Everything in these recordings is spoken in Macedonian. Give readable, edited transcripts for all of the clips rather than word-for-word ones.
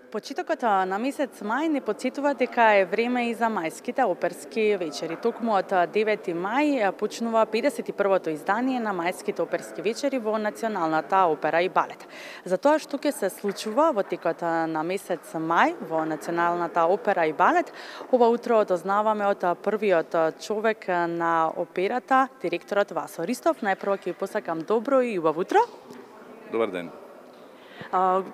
Почетокот на месец мај не потсетува дека е време и за мајските оперски вечери. Токму од 9 мај почнува 51-то издание на мајските оперски вечери во Националната опера и балет. За тоа што ќе се случува во текот на месец мај во Националната опера и балет, ова утро дознаваме од првиот човек на операта, директорот Васо Ристов. Најпрво ќе ви посакам добро и убаво утро. Добар ден.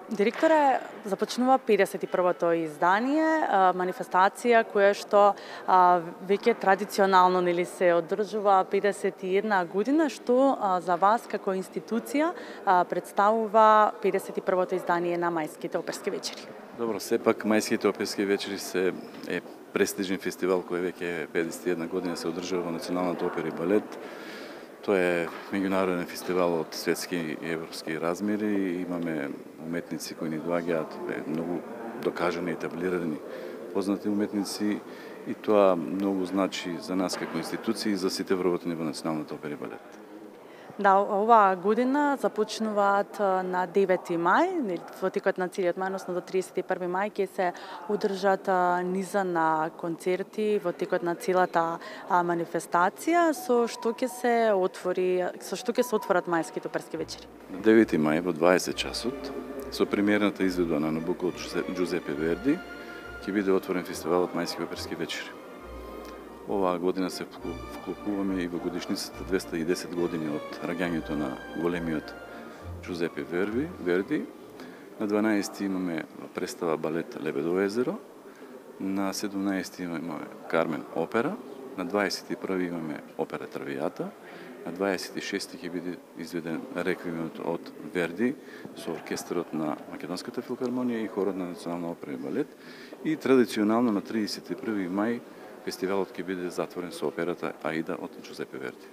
Директоре, започнува 51-то издание, манифестација која што веќе традиционално се одржува 51 година, што за вас како институција представува 51-то издание на мајските оперски вечери. Добро, сепак мајските оперски вечери е престижен фестивал кој веќе 51 година се одржува во Националната опера и балет. Тоа е меѓународен фестивал од светски и европски размери. Имаме уметници кои ни доаѓаат, многу докажани, етаблирани, познати уметници, и тоа многу значи за нас како институции и за сите вработени во Националната опера и балет. Да, оваа година започнуваат на 9 мај, во текот на целиот мај, односно до 31 мај ќе се одржат низа на концерти во текот на целата манифестација, со што ќе се отворат мајските оперски вечери. На 9 мај во 20 часот со премиерната изведба на Набуко од Джузепе Верди ќе биде отворен фестивалот мајски оперски вечери. Оваа година се вклопуваме и во годишницата 210 години од раѓањето на големиот Джузепе Верди. На 12 имаме представа балет Лебедово езеро, на 17 имаме Кармен опера, на 21 имаме опера Травијата, на 26 ќе биде изведен реквиемот од Верди со оркестарот на Македонската филхармонија и хорот на Национална опера и балет, и традиционално на 31 мај фестивалот ќе биде затворен со операта Аида од Джузепе Верди.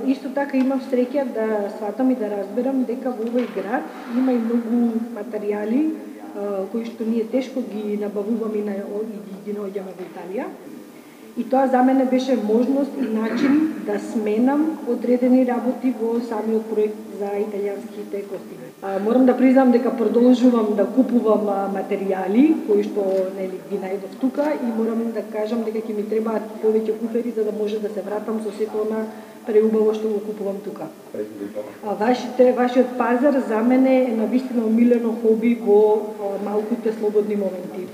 Исто така имам среќа да сватам и да разберам дека во овој град има и многу материјали кои што ние тешко ги набавуваме и ги наоѓаме во Италија. И тоа за мене беше можност и начин да сменам одредени работи во самиот проект за италијанските костими. Морам да признам дека продолжувам да купувам материјали кои што ги најдов тука, и морам да кажам дека ќе ми требаат повеќе куфери за да може да се вратам со сето она преубаво што го купувам тука. Вашиот пазар за мене е навистина омилено хоби во малките слободни моменти.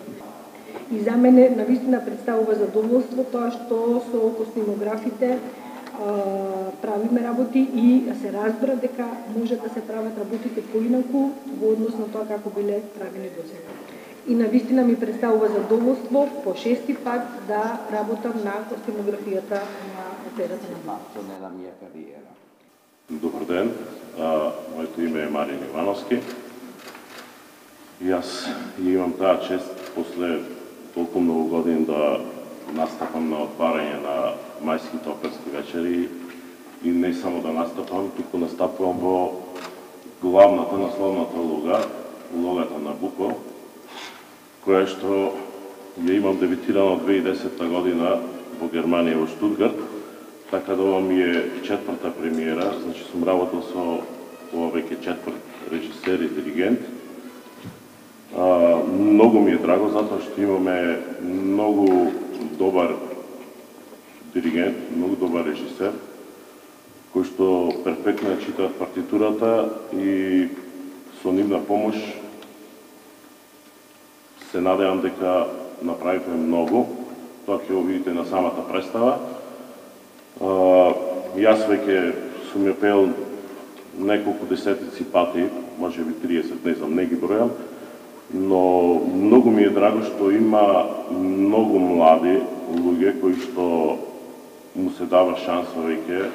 И за мене навистина представува задоволство тоа што со костимографите правиме работи и се разбира дека може да се прават работите поинаку во однос на тоа како биле правени досега. И навистина ми представува задоволство по 6-ти пат да работам на костимографијата на операта на балет. Добар ден, моето име е Марин Ивановски и аз имам таа чест после толку многу години да настапам на отварање на мајските оперски вечери, и не само да настапам, туку настапувам во главната насловната улога, улогата на Набуко, која што ја имам дебитирано 2010 година во Германија, во Штутгарт, така да ова ми е 4-та премиера, значи сум работил со ова веќе 4 режисер и диригент. Многу ми е драго затоа што имаме многу добар диригент, многу добар режисер, кој што перфектно ја читаат партитурата, и со нивна помош се надевам дека направивме многу. Тоа ќе го видите на самата представа. Јас веќе сум ја пеел неколку десетици пати, може би 30, не знам, не ги бројам, но многу ми е драго што има многу млади луѓе кои што му се дава шанса веќе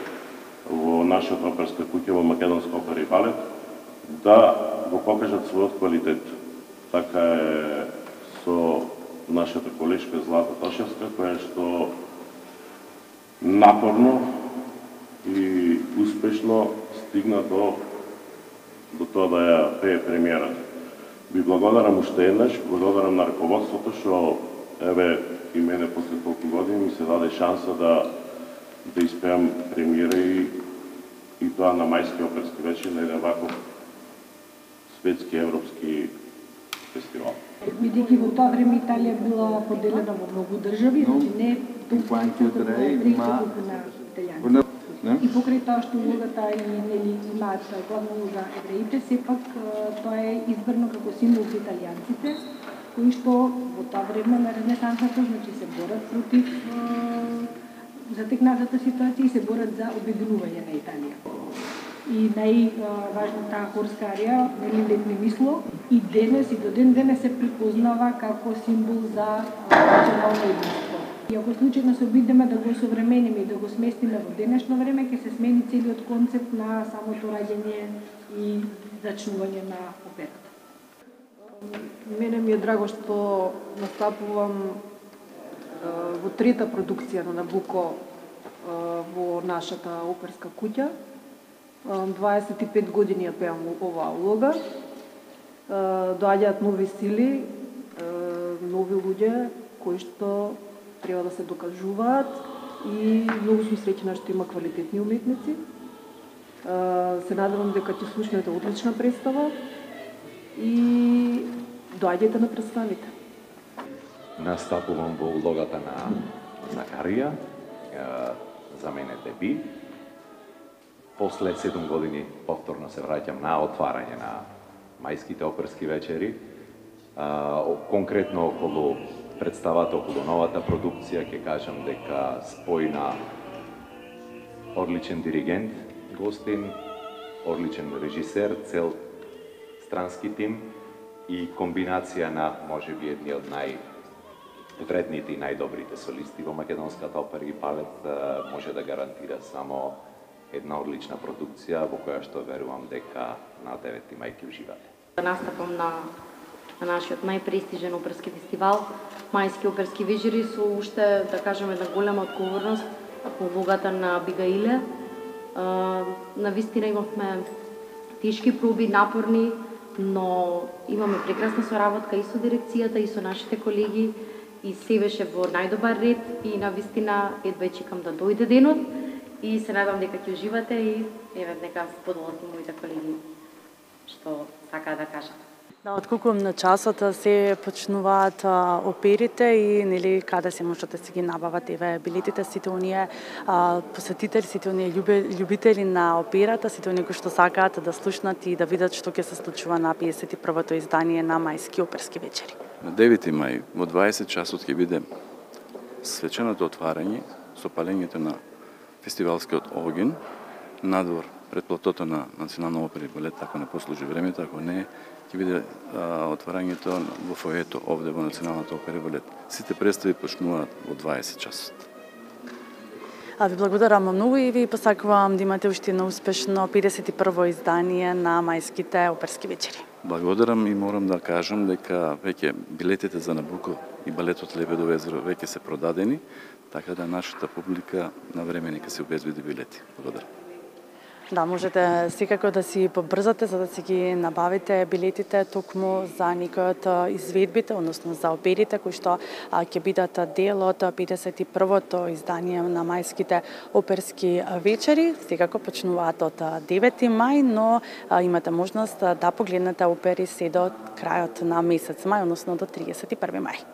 во нашата оперска куќа, во Македонска опера и балет, да го покажат својот квалитет. Така е со нашата колешка Злата Тошевска, која што напорно и успешно стигна до тоа да ја пее премиерата. Ви благодарам уште еднаш, благодарам на раководството што и мене после толку години ми се даде шанса да испеам премиера и тоа на мајски оперски вечер на еден ваков светски европски фестивал. Бидејќи во тоа време Италија била поделена во многу држави, значи не толку на евреи, колку на италијанци. И покрај тоа што улогата и нели имаат главна улога евреите, сепак тоа е избрано како символ за италијанците, кои што во тоа време на Ренесансата, значи се борат против затекнатата ситуација и се борат за обединување на Италија. И најважната хорска арија, нели летни мисло, и денес и до ден денес се припознава како символ за национално единство. И ако случајно се обидеме да го современиме и да го сместиме во денешно време, ќе се смени целиот концепт на самото раѓање и зачнување на операта. Мене ми е драго што настапувам во трета продукција на Набуко во нашата оперска куќа. 25 години ја пеам оваа улога. Доаѓаат нови сили, нови луѓе кои што треба да се докажуваат и многу сум среќна што има квалитетни уметници. Се надевам дека ќе слушнете одлична представа и доаѓајте на представите. Настапувам во улогата на Захарија, за мене деби. После 7 години повторно се враќам на отварање на мајските оперски вечери. Конкретно околу представата, околу новата продукција, ќе кажам дека спојна одличен диригент, гостин, одличен режисер, цел странски тим и комбинација на можеби едни од највредните и најдобрите солисти во македонската опера и балет може да гарантира само една одлична продукција во која што верувам дека на 9 мај ќе уживате. Настапам на нашиот најпрестижен оперски фестивал, Мајски оперски вечери, со уште, да кажеме, една голема одговорност во улогата на Абигаиле. Навистина имавме тешки проби, напорни, но имаме прекрасна соработка и со дирекцијата, и со нашите колеги, и се беше во најдобар ред и навистина едва чекам да дојде денот и се надам дека ќе уживате и еве нека споделат и моите колеги што сакаат да кажат. Да, отколку на часот се почнуваат оперите и нели каде се можат да се ги набават еве билетите, сите оние посетители, сите оние љубители на операта, сите оние кои што сакаат да слушнат и да видат што ќе се случува на 51-то издание на Мајски оперски вечери. На 9 мај во 20 часот ќе биде свеченото отварање со палењето на фестивалскиот огин надвор пред платото на Национална опера и балет, ако не послужи времето, ако не, ќе биде отварањето во фоето овде во Националната опера и балет. Сите представи почнуваат во 20 часот. Ви благодарам многу и ви посакувам да имате уште едно успешно 51-во издание на Мајските оперски вечери. Благодарам и морам да кажам дека веќе билетите за Набуко и балетот Лебедово езеро веќе се продадени, така да нашата публика на време нека се обезбеди билети. Благодарам. Да, можете секако да си побрзате за да си ги набавите билетите токму за некои од изведбите, односно за оперите кои што ќе бидат дел од 51-то издание на Мајските оперски вечери. Секако почнуваат од 9 мај, но имате можност да погледнете опери се до крајот на месец мај, односно до 31 мај.